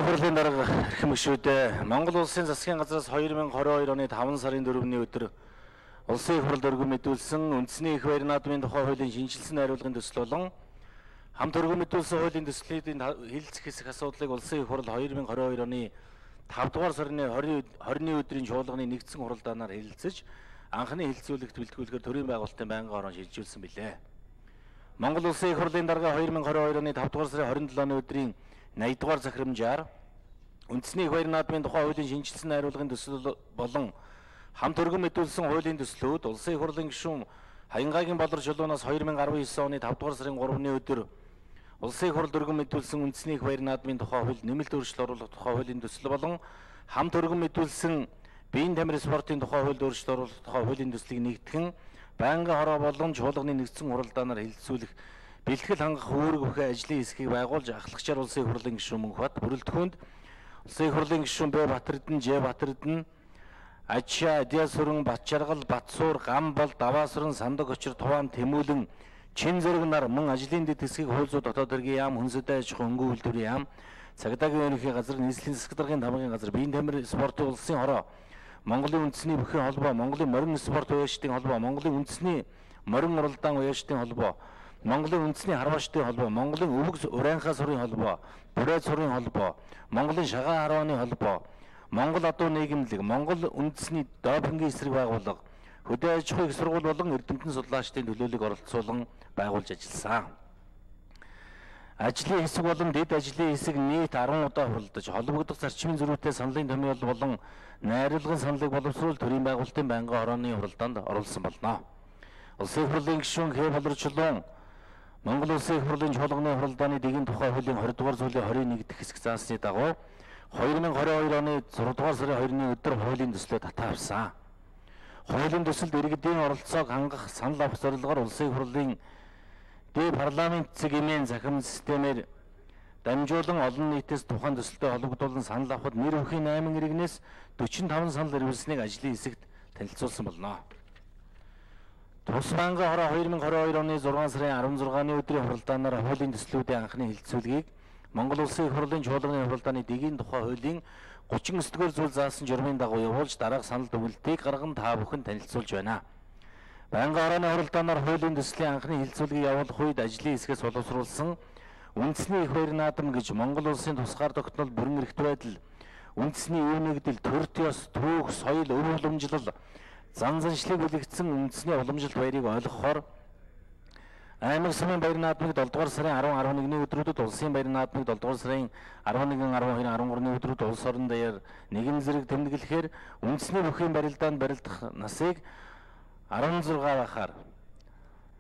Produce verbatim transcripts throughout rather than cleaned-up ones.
Улсын хурлын дарга эрхэм гишүүдээ Монгол улсын засгийн газраас две тысячи двадцать two оны петр сарын дөрөвний өдөр улсын их хурлд өргөн мэдүүлсэн үндэсний их байр наадмын тухай хуулийн шинжилсэн найруулгын төсөл болон хамт өргөн мэдүүлсэн хуулийн төслийн хэлэлцэх хэсэг асуудлыг улсын их хурл две тысячи двадцать two оны петр дугаар сарын twenty өдрийн чуулганы нэгдсэн хуралдаанаар хэлэлцэж анхны хэлэлцүүлэгт бэлтгүүлэхээр төрийн байгуулалтын байнгын орон шилжүүлсэн билээ. Монгол улсын их хурлын дарга две тысячи двадцать two оны петр дугаар сарын twenty-seven өдрийн eighty дугаар захирамжаар үндэсний их байр наадмын тухай хуулийн шинжилсэн найруулгын төсөл болон хамт өргөн мэдүүлсэн хуулийн төслүүд улсын их хурлын гишүүн Хаянгагийн Болор чулуунаас two thousand nineteen оны петр дугаар сарын three-ны өдөр улсын их хурлд өргөн мэдүүлсэн үндэсний их байр наадмын тухай хууль нэмэлт өөрчлөлт оруулах тухай хуулийн төсөл болон хамт өргөн мэдүүлсэн биеийн тамирын спортын тухай хуульд өөрчлөлт оруулах тухай хуулийн төслийг нэгтгэн байнгын хороо болон чуулганы нэгдсэн хуралдаанаар хэлэлцүүлэх бэлтгэл хангах үүрэг бүхий ажлын хэсгийг байгуулж ахлагчаар улсын их хурлын гишүүн Мөнхбат бүрэлдэхүүнд улсын их хурлын гишүүн Б Батэрдэн, Ж Батэрдэн, Ачаа, Адиасүрэн, Батчаргал, Батсуур, Гамбол, Даваасран, Сандаг Очир, Туван, Тэмүүлэн, Чин зэрэг нар мөн ажлын дэд хэсгийг хууль зүйн дотоод хэргийн яам, хүнсэдэй аж ахуйн хөнгөн үйлдвэрийн яам, цагдаагийн ерөнхий газар, нийслэлийн засаг даргын тамгын газар, биеийн тамирын спортын улсын хороо, Монголын үндэсний бүхий холбоо, Монголын морин спорт уяачдын холбоо, Монголын үндэсний морин уралдаан уяачдын холбоо, Монголын үндэсний харваачдын холбоо, Монголын өвөг урайнхаа сурын холбоо, бүрээд сурын холбоо, Монголын шагаан харвааны холбоо, Монгол адуу нийгэмлэг, Монгол үндэсний допингийн эсрэг байгууллага, хөдөө аж ахуйн их сургууль болон эрдэмтэн судлаачдын төлөөллийг оролцуулан байгуулж ажилласан. Ажлын хэсэг болон дэд ажлын хэсэг нийт ten удаа хуралдаж, холбогдох зарчмын зөрүүтэй саналын томьёол болон найруулгын саналыг боловсруулах төрийн байгуулалтын байнгын хорооны хуралдаанд оруулсан болно. Улсын их хурлын гишүүн Х Болор чулуун Монгол улсын их хурлын чуулганы хуралдааны дэгийн тухай хуулийн twenty дугаар зүйлийн twenty-one дахь хэсэг заасны дагуу twenty twenty-two оны six дугаар сарын two-ны өдөр хуулийн төслөө татаа авсан. Хуулийн төсөлд иргэдийн оролцоог хангах санал авах зорилгоор улсын их хурлын дэд парламент цэг эмээн захирам системээр дамжуулан олон нийтээс тухайн төсөлтэй холбогдуулан санал авахд нэр бүхийн eight иргэнээс forty-five санал ирүүлсэнийг ажлын хэсэгт танилцуулсан болно. Тус байнгын хороо twenty twenty-two оны six сарын sixteen-ны өдрийн хуралдаанаар хуулийн төслүүдийн анхны хэлэлцүүлгийг Монгол улсын их хурлын чуулганы хуралдааны дэгийн тухай хуулийн thirty-nine дугаар зүйл заасан журмын дагуу явуулж дараах санал дүгнэлтийг гарган та бүхэн танилцуулж байна. Байнгын хорооны хуралдаанаар хуулийн төслийн анхны хэлэлцүүлгийг явуулах үед ажлын хэсгээс боловсруулсан үндэсний их байр наадам гэж Монгол улсын тусгаар тогтнол бүрэн эрхт байдал, үндэсний үе нэгдэл, төрт ёс, түүх, соёл, өв уламжлал, зан заншлыг үлэгдсэн үндэсний уламжлалт баярыг ойлгохоор аймаг сумын байр наадмыг seven дугаар сарын ten eleven-ны өдрүүдэд улсын байр наадмыг seven дугаар сарын eleven, twelve, thirteen-ны өдрүүд улс орон даяар нэгэн зэрэг тэмдэглэхээр үндэсний бүхий барилдаанд барилдах насыг sixteen байхаар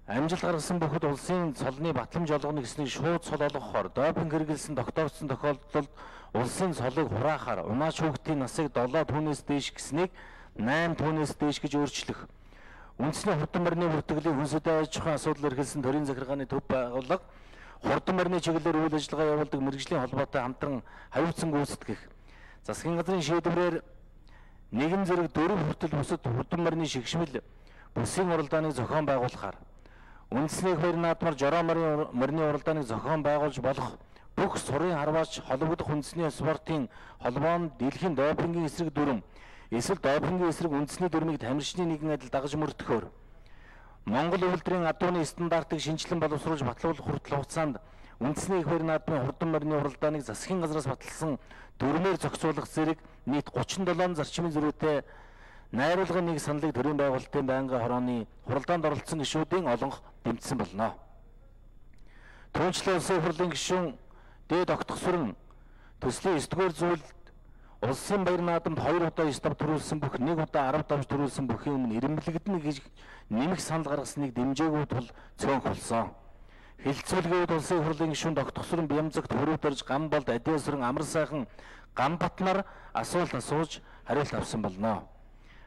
амжилт гаргасан бүхэд улсын цолны батламж олгоно гэснийг шууд цол олгохоор допинг хэрэгэлсэн тогтоогдсон тохиолдолд улсын цолыг хураахаар унаач хүүхдийн насыг seven түүнээс дээш гэснийг eight түүнээс дээш гэж өөрчлөх, үндэсний хурдан барьны бүртгэлийн хүнсэдэй аж ахуйн асуудал эрхэлсэн төрийн захиргааны төв байгууллага хурдан барьны чиглэлээр үйл ажиллагаа явуулдаг мэргэжлийн холбоотой хамтран хариуцсан гүйцэтгэх, засгийн газрын шийдвэрээр нэгэн зэрэг дөрөв хүртэл бусад хурдан барьны шигшмэл бүсийн уралдааныг зохион байгуулахаар үндэсний их байр наадмаар жороо морины уралдааныг зохион байгуулж болох бүх сурын харваач холбогдох үндэсний спортын холбоонд дэлхийн допингийн эсрэг дүрм эсвэл допингийн эсрэг үндэсний дүрмийг тамирчны нэгэн адил дагаж мөрдөхөөр Монгол үйлдвэрийн адууны стандартыг шинжилэн боловсруулж батлуулах хүртэл хугацаанд үндэсний их байр наадмын хурдан барьны уралдааныг засгийн газраас баталсан дүрмээр зохицуулах зэрэг нийт thirty-seven зарчмын зөрүүтэй найруулгын нэг саналыг төрийн байгуулалтын байнгын хорооны хуралдаанд оролцсон гишүүдийн олонх дэмжсэн болно. Түүнчлэн улсын их хурлын гишүүн Д Тогтгосрон төслийн nine дугаар зүйлд улсын байр наадамд two удаа nine давж төрүүлсэн бүх one удаа ten давж төрүүлсэн бүхийн өмнө ирэмблэгдэнэ гэж нэмэх санал гаргасныг дэмжээгүй тул цөөнх болсон. Хэлэлцүүлгээд улсын их хурлын гишүүн Тогтгосрон Бямзагт хөрөвдөрж Гамболд Адиасүрэн Амар сайхан Гамбат нар асуулт асууж хариулт авсан болно.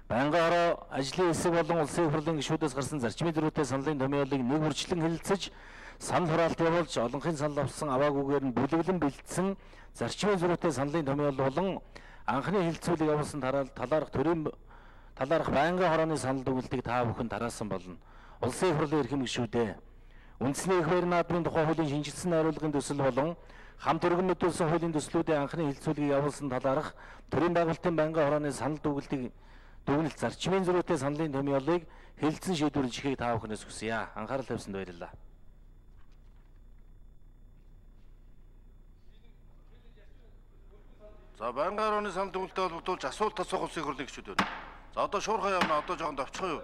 Байнгын хороо ажлын хэсэг болон улсын их хурлын гишүүдээс гарсан зарчмын зөрүүтэй саналын томьёолыг нэг үржлэн хэлэлцэж санал хураалт явуулж олонхын санал авсан аваагүйгээр нь бүлэглэн бэлдсэн зарчмын зөрүүтэй саналын томьёол болон анхны хэлэлцүүлэг явуулсан талаарх төрийн талаарх байнгын хорооны санал дүгнэлтийг та бүхэн тараасан болно. Улсын их хурлын эрхэм гишүүдээ үндэсний их байр наадмын тухай хуулийн шинжилсэн найруулгын төсөл болон хамт өргөн мэдүүлсэн хуулийн төслүүдийн анхны хэлцүүлгийг явуулсан талаарх төрийн байгуулалтын байнгын хорооны санал дүгнэлтийг дүгнэлт зарчмын зөрүүтэй саналын томьёолыг хэлэлцэн шийдвэрлэж ихийг та бүхнээс хүсье. Анхаарал тавьсанд баярлалаа. За байнгын хорооны санал дүгнэлтэд холбогдуулж асуулт асуух улсын хурлын гишүүд байна. За одоо шуурхай явна, одоо жоохон давчхан юу?